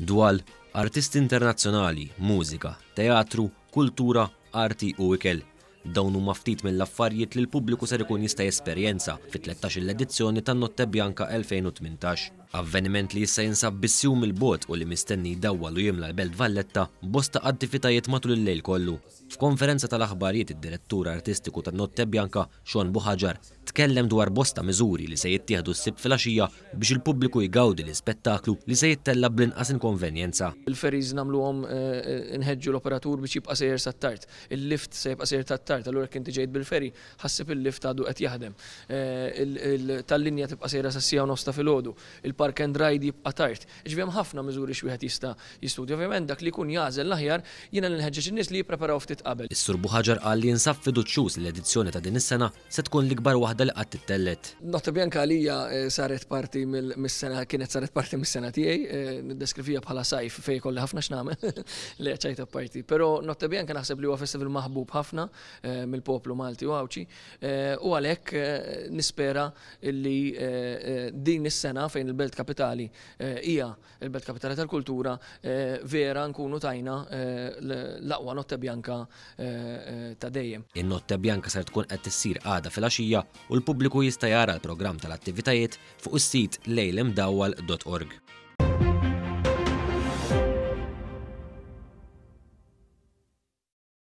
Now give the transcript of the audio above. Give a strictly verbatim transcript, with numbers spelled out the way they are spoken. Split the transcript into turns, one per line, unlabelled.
Dwal, artisti internazzjonali, mużika, teatru, kultura, arti u ikel. Dawn huma ftit mill-affarijiet li l-pubbliku ser ikun jista' jesperjenza fit-tlettax-il edizzjoni tan-Notte Bianca elfejn u tmintax. Avveniment li issa jinsab biss jum il-bogħod u li mistenni jdawwal u jimla l-Belt Valletta bosta attivitajiet matul il-lejl kollu. F'konferenza tal-aħbarijiet, id-direttur artistiku tan-Notte Bianca, Sean Buhagiar, tkellem dwar bosta miżuri li se jittieħdu s-Sibt filgħaxija biex il-pubbliku jgawdi l-ispettaklu li se jittella bl-inqas inkonvenjenza.
Il-ferries nagħmluhom, eh, nħeġġu l-operatur biex jibqa' sejjer sat-tard. Il-lift se jibqa' sejjer tat-tard, allura jekk inti ġejt bil-ferry, ħa ssib il-lift għadu qed jaħdem. Eh, tal-linja tibqa' sejra sas-siegħa u nofs ta' filgħodu. Il-park and ride jibqa' tard. Ġifieri hemm ħafna miżuri x'wieħed jista' jistudja. Ovvjament dak li jkun jagħżel l-aħjar, jiena nħeġġeġ in-nies li jippreparaw ftit qabel.
Is-Sur Buhagiar qal li jinsab fiduċjuż li l-edizzjoni ta' din is-sena se tkun l-ikbar waħda li qatt ittellgħet.
Notte Bianca għalija, eh, saret parti mis-sena, kienet saret parti mis-sena tiegħi, eh, niddeskrivija bħala sajf fejn kolli ħafna x'nagħmel li ċajta parti. Però Notte Bianca naħseb li huwa festival maħbub ħafna eh, mill-poplu Malti u Għawdxi, u għalhekk nispera li din is-sena, fejn il-Belt Kapitali hija il-Belt Kapitali tal-Kultura, vera nkunu tajna l-aqwa Notte Bianca ta' dejjem.
In-Notte Bianca ser tkun qed tissir għada filgħaxija u l-pubbliku jista' jara l-programm tal-attivitajiet fuq is-sit lejlimdawwal dot org.